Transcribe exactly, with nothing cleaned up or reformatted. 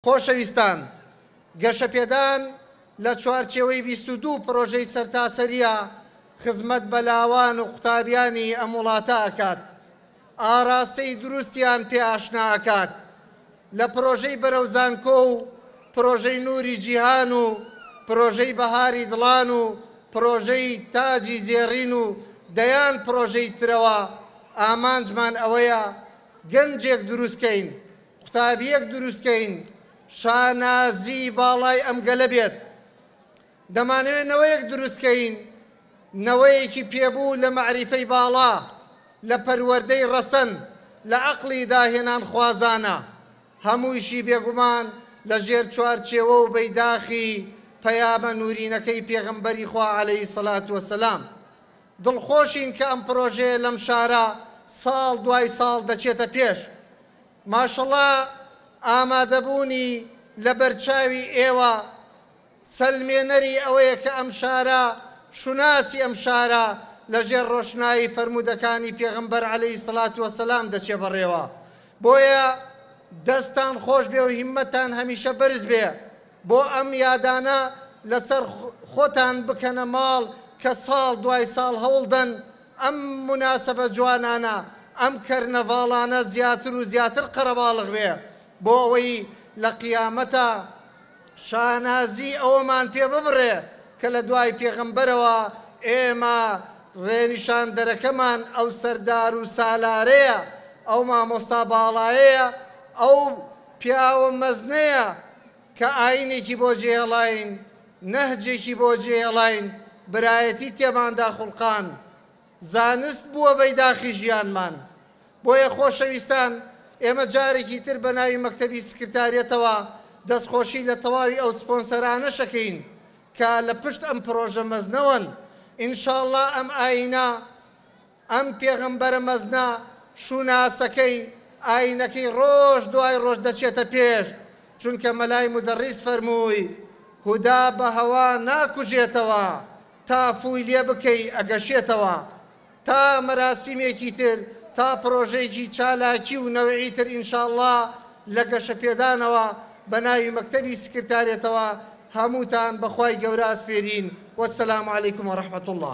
خۆشەویستان، گەشەپێدان لە چوارچێوەی بیست و دوو پرۆژەی سەرتاسەریە خزمەت بە لاوان و قوتابیانی ئەم وڵاتە ئەکات، ئاراستەی دروستیان پێ ئاشنا ئەکات. لە پرۆژەی بەرەو زانکۆ و پرۆژەی نووری جیهان و پرۆژەی بەهاری دڵان و پرۆژەی تاجی زێڕین و دەیان پرۆژەی ترەوە ئامانجمان ئەوەیە گەنجێک دروستکەین، قوتابیەک دروستکەین شانازی باڵای ئەم گەلە بێت. دەمانەوێت نەوەیەک دروستکەین، نەوەیەکی پێبوو لە مەعریفەی باڵا، لە پەروەردەی ڕەسەن، لە عەقڵی داهێنان خوازانە، هەموویشی بێگومان لە ژێر چوارچێوە و بەیداخی پەیامە نورینەکەی پێغەمبەری خوا عەلەیهی سەلات وەسەلام. دڵخۆشین کە ئەم پرۆژەیە لەم شارە ساڵ دوای ساڵ دەچێتە پێش. ماشەڵڵا ئامادەبوونی لە بەرچاوی ئێوە سەلمێنەری ئەوەیە کە ئەم شارە، شوناسی ئەم شارە لەژێر ڕۆشنایی فەرموودەکانی پێغەمبەر عەلەیهی سەلات وەسەلام دەچێ بەڕێوە. بۆیە دەستان خۆش بێ و هیمەتان هەمیشە بەرز بێ بۆ ئەم یادانە لەسەر خۆتان بکەنە ماڵ کە ساڵ دوای ساڵ هەوڵدەن ئەم مناسبە جوانانە، ئەم کەرنەڤاڵانە زیاتر و زیاتر قەرەباڵغ بێ بۆ ئەوەی لە قیامەتە شانازی ئەوەمان پێ ببڕێ کە لە دوای پێغەمبەرەوە ئێمە ڕێنیشاندەرەکەمان ئەو سەردار و سالارەیە، ئەو مامۆستا باڵایەیە، ئەو پیاوە مەزنەیە کە ئاینێکی بۆ جێهێڵاین، نەهجێکی بۆ جێهێڵاین، برایەتی تێماندا خوڵقان، زانست بووە بەیداخی ژیانمان. بۆیە خۆشەویستان، ئێمە جارێکی تر بە ناوی مەکتەبی سکرتاریەتەوە دەستخۆشی لە تەواوی ئەو سپۆنسەرانە شەکەین کە لە پشت ئەم پرۆژە مەزنەوەن. ئینشاءڵڵا ئەم ئاینە، ئەم پێغەمبەرە مەزنە، شوناسەکەی ئاینەکەی ڕۆژ دوای ڕۆژ دەچێتە پێش، چونکە مەلای مدەڕیس فەرمووی هودا بە هەوا ناکوژێتەوە تا فووی لێ بکەی ئەگەشێتەوە. تا مەراسیمێکی تر، تا پرۆژەیەکی چالاکی و نەوعی تر ئینشاءڵڵا لە گەشەپێدانەوە بە ناوی مەکتەبی سکرتاریەتەوە هەمووتان بەخوای گەورە ئەسپێرین. وەسەلام عەلەیکم وەڕەحمەتوڵڵا.